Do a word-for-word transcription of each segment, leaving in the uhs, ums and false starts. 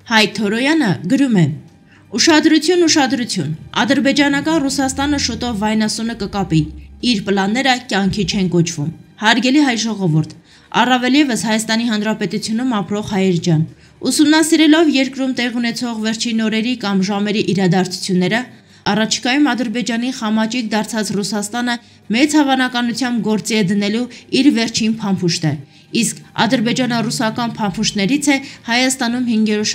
Հայկ Թորոյանը գրում է. Ուշադրություն, ուշադրություն, ադրբեջանական Ռուսաստանը շուտով վայնասունը կկապի, իր պլանները կյանքի չեն կոչվում։ Հարգելի հայ ժողովուրդ, առավել ևս Հայաստանի Հանրապետությունում ապրող հայեր ջան, ուսումնասիրելով երկրում տեղ ունեցող վերջին օրերի կամ ժամերի իրադարձությունները, առաջիկայում Ադրբեջանի խամաճիկ դարձած Ռուսաստանը մեծ հավանականությամբ գործի է դնելու իր վերջին փամփուշտը, իսկ ադրբեջանա-ռուսական փամփուշտներից է Հայաստանում հինգերորդ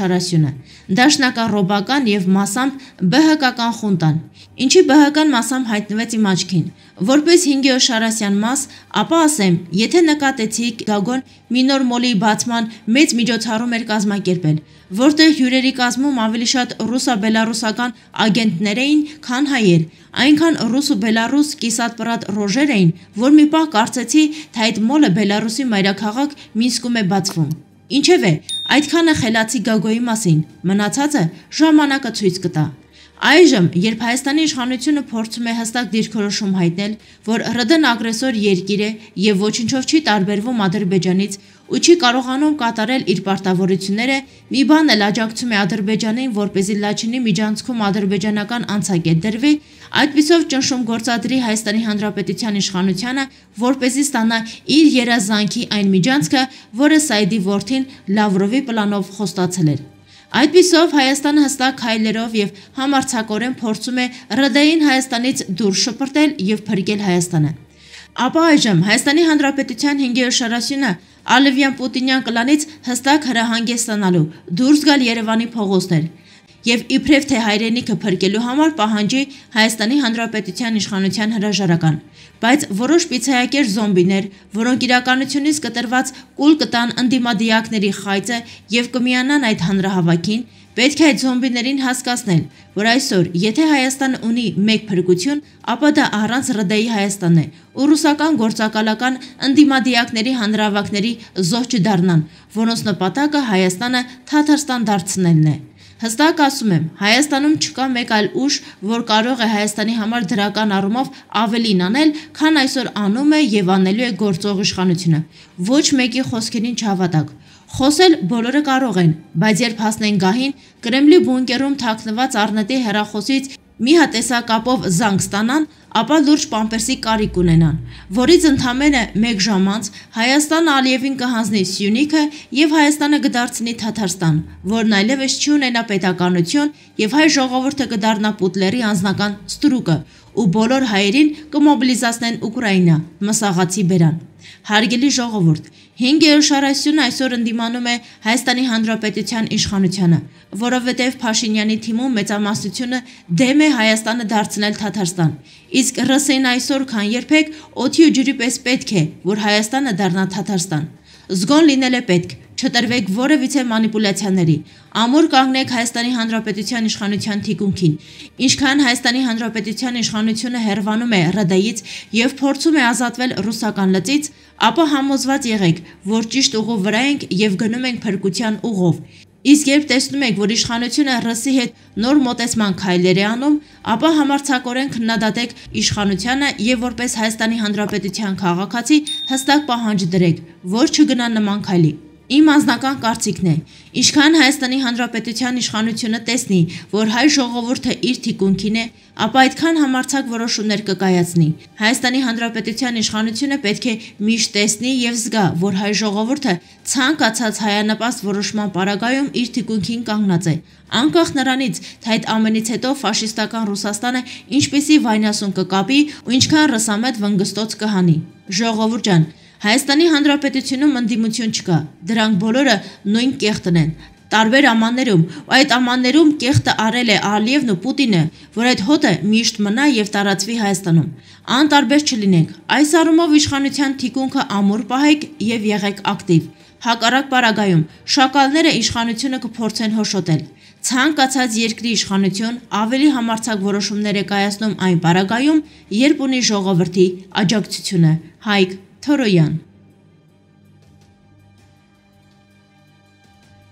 դաշնակառոբական եւ մասամբ ԲՀԿ-ական խունտան, ինչի ԲՀԿ-ն մասամբ հայտնվեց իմ աչքին, որպես հինգերորդ Շարասյան մաս, ապա ասեմ, եթե նկատեցիք Գագոն մի նոր մոլի բացման մեծ միջոցառում էր կազմակերպել, որտեղ հյուրերի կազմում ավելի շատ ռուսա-բելարուսական ագենտներ էին, քան հայեր, այնքան ռուս ու բելարուս կիսատ-պռատ ռոժեր էին, որ մի պահ կարծեցի, թե այդ մոլը Բելարուսի մայրաքաղաք Մինսկում է բացվում։ Ինչևէ, այդքանը խելացի Գագոյի մասին, մնացածը ժամանակը ցույց կտա։ Այժմ, երբ Հայաստանի իշխանությունը փորձում է հստակ դիրքորոշում հայտնել, որ ՌԴ-ն ագրեսոր երկիր է եւ ոչնչով չի տարբերվում Ադրբեջանից ու չի կարողանում կատարել իր պարտավորությունները, մի բան էլ աջակցում է Ադրբեջանին, որպեսզի Լաչինի միջանցքում ադրբեջանական անցակետ դրվի, այդպիսով ճնշում գործադրի Հայաստանի Հանրապետության իշխանությանը, որպեսզի ստանա իր երազանքի այն միջանցքը, որը Սայիդի որդին Լավրովի պլանով խոստացել էր։ Այդպիսով Հայաստանը հստակ քայլերով եւ համարձակորեն փորձում է ՌԴ-ին Հայաստանից դուրս շպրտել եւ փրկել Հայաստանը։ Ապա այժմ Հայաստանի Հանրապետության հինգերորդ շարասյունը Ալևյան-Պուտինյան կլանից հստակ հրահանգ է ստանալու դուրս գալ Երևանի փողոցներ եւ իբրև թե հայրենիքը փրկելու համար պահանջի Հայաստանի Հանրապետության իշխանության հրաժարական, բայց որոշ պիցայակեր զոմբիներ, որոնք իրականությունից կտրված կուլ կտան ընդդիմադիակների խայծը եւ կմիանան այդ հանրահավաքին, պետք է այդ զոմբիներին հասկացնել, որ այսօր, եթե Հայաստանը ունի մեկ փրկություն, ապա դա առանց ՌԴ-ի Հայաստանն է, ու ռուսական գործակալական ընդդիմադիակների հանրահավաքների զոհ չդառնան, որոնց նպատակը Հայաստանը Թաթարստան դարձնելն է։ Հստակ ասում եմ, Հայաստանում չկա մեկ այլ ուժ, որ կարող է Հայաստանի համար դրական առումով ավելին անել, քան այսօր անում է եւ անելու է գործող իշխանությունը։ Ոչ մեկի խոսքերին չհավատաք։ Խոսել բոլորը կարող են, բայց երբ հասնեն գահին, Կրեմլի բունկերում թաքնված առնետի հեռախոսից մի հատ տեսակապով զանգ ստանան, ապա լուրջ պամպերսի կարիք ունենան, որից ընդամենը մեկ ժամ անց Հայաստանը Ալիևին կհանձնի Սյունիքը եւ Հայաստանը կդարձնի Թաթարստան, որն այլևս չի ունենա պետականություն եւ հայ ժողովուրդը կդառնա Պուտլերի անձնական ստրուկը ու բոլոր հայերին կմոբիլիզացնեն Ուկրաինա, մսաղացի բերան։ Հարգելի ժողովուրդ, հինգերորդ շարասյունը այսօր ընդդիմանում է Հայաստանի Հանրապետության իշխանությանը, որովհետև Փաշինյանի թիմում մեծամասնությունը դեմ է Հայաստանը դարձնել Թաթարստան, իսկ ՌՍՀ-ին այսօր քան երբեք օդի ու ջրի պես պետք է, որ Հայաստանը դառնա Թաթարստան։ Զգոն լինել է պետք, չտրվեք որևիցե մանիպուլյացիաների, ամուր կանգնեք Հայաստանի Հանրապետության իշխանության թիկունքին, ինչքան Հայաստանի Հանրապետության իշխանությունը հեռվանում է ՌԴ-ից եւ փորձում է ազատվել ռուսական լծից, ապա համոզված եղեք, որ ճիշտ ուղու վրա ենք եւ գնում ենք փրկության ուղով։ Իսկ երբ տեսնում եք, որ իշխանությունը ՌՍՀ-ի հետ նոր մոտեցման քայլեր է անում, ապա համարձակորեն քննադատեք իշխանությանը եւ որպես Հայաստանի Հանրապետության քաղաքացի հստակ պահանջ դրեք, որ չգնա նման քայլի։ Իմ անձնական կարծիքն է, ինչքան Հայաստանի Հանրապետության իշխանությունը տեսնի, որ հայ ժողովուրդը իր թիկունքին է, ապա այդքան համարձակ որոշումներ կկայացնի։ Հայաստանի Հանրապետության իշխանությունը պետք է միշտ տեսնի եւ զգա, որ հայ ժողովուրդը ցանկացած հայանպաստ որոշման պարագայում իր թիկունքին կանգնած է, անկախ նրանից, թե այդ ամենից հետո ֆաշիստական Ռուսաստանը ինչպիսի վայնասուն կկապի ու ինչքան ռսամետ վնգստոց կհանի։ Ժողովուրդ ջան, Հայաստանի Հանրապետությունում ընդդիմություն չկա, դրանք բոլորը նույն կեղտն են, տարբեր ամաններում, ու այդ ամաններում կեղտը արել է Ալիևն ու Պուտինը, որ այդ հոտը միշտ մնա եւ տարածվի Հայաստանում։ Անտարբեր չլինենք, այս առումով իշխանության թիկունքը ամուր պահեք եւ եղեք ակտիվ։ Հակառակ պարագայում շակալները իշխանությունը կփորձեն հոշոտել։ Ցանկացած երկրի իշխանություն ավելի համարձակ որոշումներ է կայացնում այն պարագայում, երբ ունի ժողովրդի աջակցությունը։ Հայկ Թորոյան։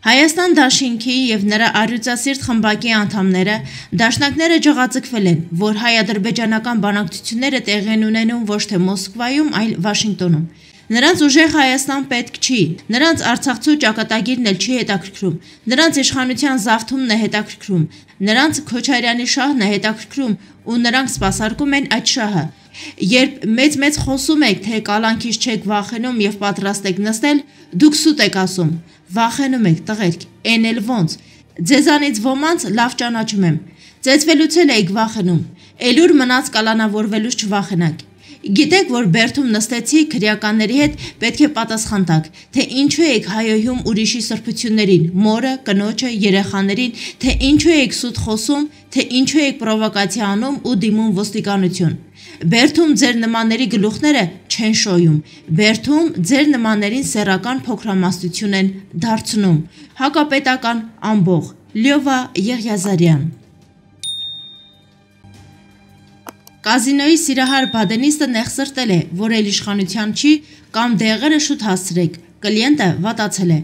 Հայաստան դաշինքի եւ նրա առյուծասիրտ խմբակի անդամները դաշնակները ջղաձգվել են, որ հայ-ադրբեջանական բանակցությունները տեղի են ունենում ոչ թե Մոսկվայում, այլ Վաշինգտոնում։ Նրանց ուժեղ Հայաստան պետք չի, նրանց Արցախցու ճակատագիրն էլ չի հետաքրքրում, նրանց իշխանության զավթումն է հետաքրքրում, նրանց Քոչարյանի շահն է հետաքրքրում ու նրանք սպասարկում են այդ շահը։ Երբ մեծ-մեծ խոսում եք, թե կալանքից չեք վախենում եւ պատրաստ եք նստել, դուք սուտ եք ասում, վախենում եք տղերք, էն էլ ոնց, ձեզանից ոմանց լավ ճանաչում եմ, ծեծվելուց էլ եք վախենում, էլուր մնաց կալանավորվելուց չվախենակ։ Գիտեք, որ Բերդում նստեցի քրեականների հետ պետք է պատասխան տաք, թե ինչու եք հայոյում ուրիշի սրբություններին, մորը, կնոջը, երեխաներին, թե ինչու եք սուտ խոսում, թե ինչու եք պրովոկացիա անում ու դիմում ոստիկանություն։ Բերդում ձեր նմանների գլուխները չեն շոյում, Բերդում ձեր նմաններին սեռական փոքրամասնություն են դարձնում։ Հակապետական ամբող, Լյովա Եղիազարյան։ Կազինոյի սիրահար բադենիստը նեղսրտել է, որ էլ իշխանության չի կամ դեղերը շուտ հասցրեք, կլիենտը վատացել է։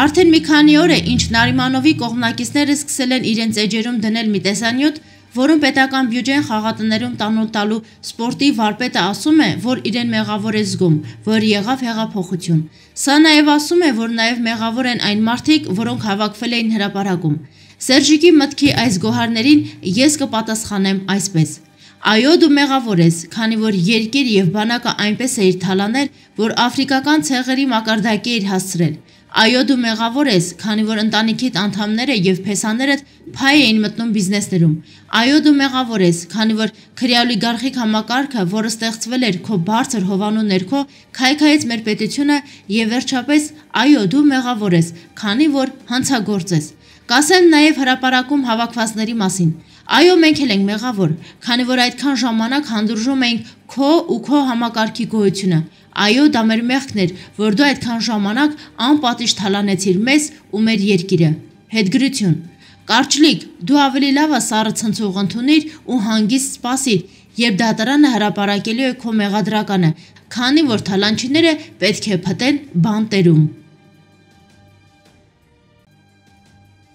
Արդեն մի քանի օր է, ինչ Նարիմանովի կողմնակիցները սկսել են իրենց էջերում դնել մի տեսանյութ, որում պետական բյուջեն խաղատներում տանուլ տալու սպորտի վարպետը ասում է, որ իրեն մեղավոր է զգում, որ եղավ հեղափոխություն։ Սա նաև ասում է, որ նաև մեղավոր են այն մարդիկ, որոնք հավաքվել էին հրապարակում։ Սերժիկի մտքի այս գոհարներին ես կպատասխանեմ այսպես. Այո, դու մեղավոր ես, քանի որ երկիր եւ բանակը այնպես էիր թալանել, որ աֆրիկական ցեղերի մակարդակի էիր հասցրել։ Այո, դու մեղավոր ես, քանի որ ընտանիքիդ անդամները եւ փեսաներդ փայ էին մտնում բիզնեսներում։ Այո, դու մեղավոր ես, քանի որ քրեոլիգարխիկ համակարգը, որը ստեղծվել էր քո բարձր հովանու ներքո, քայքայեց մեր պետությունը եւ վերջապես, այո, դու մեղավոր ես, քանի որ հանցագործ ես։ Կասեմ նաեւ հրապարակում հավաքվածների մասին։ Այո, մենք էլ ենք մեղավոր, քանի որ այդքան ժամանակ հանդուրժում էինք քո ու քո համակարգի գոյությունը։ Այո, դա մեր մեղքն էր, որ դու այդքան ժամանակ անպատիժ թալանեցիր մեզ ու մեր երկիրը։ Հետգրություն։ Կարճլիկ, դու ավելի լավ սառը ցնցող ընդունիր ու հանգիստ սպասիր, երբ դատարանը հրապարակելու է քո մեղադրականը, քանի որ թալանչիները պետք է փտեն բանտերում։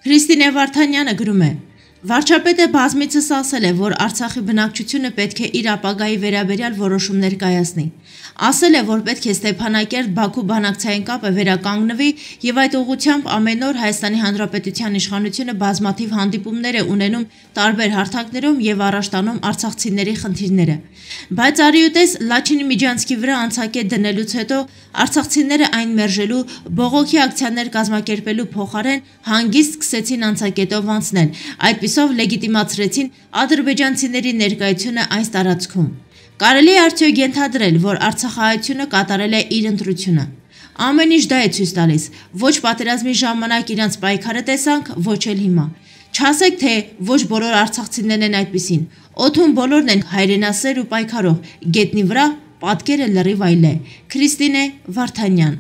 Քրիստինե Վարդանյանը գրում է. Վարչապետը բազմիցս ասել է, որ Արցախի բնակչությունը պետք է իր ապագայի վերաբերյալ որոշումներ կայացնի։ Ասել է, որ պետք է Ստեփանակերտ-Բաքու բանակցային կապը վերականգնվի եւ այդ ուղղությամբ ամեն օր Հայաստանի Հանրապետության իշխանությունը բազմաթիվ հանդիպումներ է ունենում տարբեր հարթակներում եւ առաջ տանում արցախցիների խնդիրները։ Բայց արիուտես Լաչինի Միջանցքի վրա անցակետ դնելուց հետո արցախցիները այն մերժելու, բողոքի ակցիաներ կազմակերպելու փոխարեն հանգիստ սկսեցին անցակետով անցնել, այդպիսով լեգիտիմացրեցին ադրբեջանցիների ներկայությունը այս տարածքում։ Կարելի է արդյոք ենթադրել, որ Արցախահայությունը կատարել է իր ընտրությունը։ Ամեն ինչ դա է ցույց տալիս, ոչ պատերազմի ժամանակ իրանց պայքարը տեսանք, ոչ էլ հիմա։ Չասեք, թե ոչ բոլոր արցախցիներն են այդպիսին։ Օդում բոլորն են հայրենասեր ու պայքարող, գետնի վրա պատկերը լրիվ այլ է։ Քրիստինե Վարդանյան։